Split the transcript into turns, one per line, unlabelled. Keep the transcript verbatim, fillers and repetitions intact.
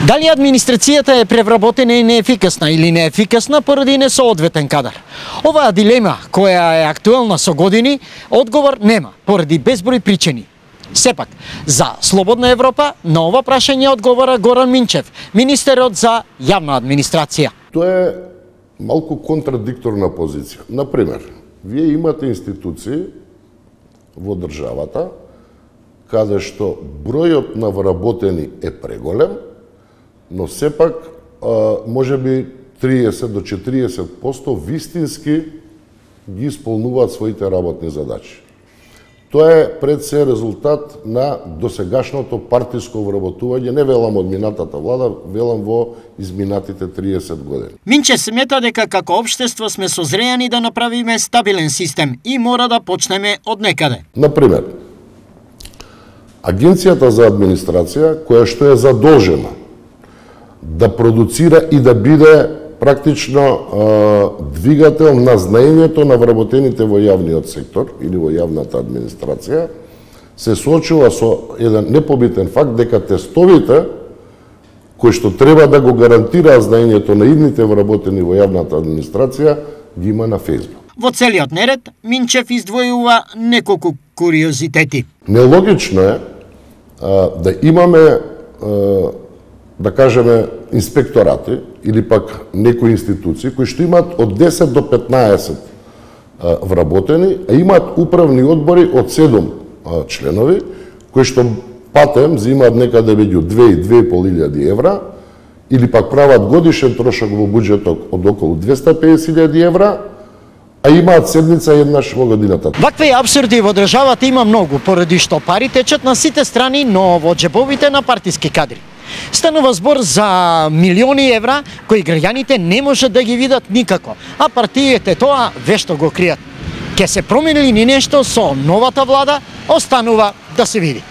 Дали администрацијата е превработена и неефикасна или неефикасна поради несоодветен кадар? Оваа дилема, која е актуелна со години, одговор нема, поради безброј причини. Сепак, за Слободна Европа на ова прашање одговора Горан Минчев, министерот за јавна администрација.
Тоа е малку контрадикторна позиција. Например, вие имате институции во државата каде што бројот на вработени е преголем, но сепак може би триесет до четириесет проценти вистински ги исполнуваат своите работни задачи. Тоа е пред се резултат на досегашното партиско вработување, не велам од минатата влада, велам во изминатите триесет години.
Минчев смета дека како општество сме созреани да направиме стабилен систем и мора да почнеме од некаде.
Например, Агенцијата за администрација, која што е задолжена да продуцира и да биде практично двигател на знаењето на вработените во јавниот сектор или во јавната администрација, се соочува со еден непобитен факт дека тестовите кои што треба да го гарантираат знаењето на идните вработени во јавната администрација ги има на Facebook.
Во целиот неред, Минчев издвојува неколку куриозитети.
Нелогично е а, да имаме а, да кажеме инспекторати или пак некои институции кои што имаат од десет до петнаесет а, вработени, а имаат управни одбори од седум а, членови кои што патем земаат некаде меѓу две и две и пол илјади евра или пак прават годишен трошок во буџетот од околу двесте и педесет илјади евра, а имаат седница еднаш во годината.
Вакви апсурди во државата има многу, поради што пари течат на сите страни, но во џебовите на партиски кадри. Станува збор за милиони евра кои граѓаните не можат да ги видат никако, а партиите тоа вешто го кријат. Ке се промени ли нешто со новата влада, останува да се види.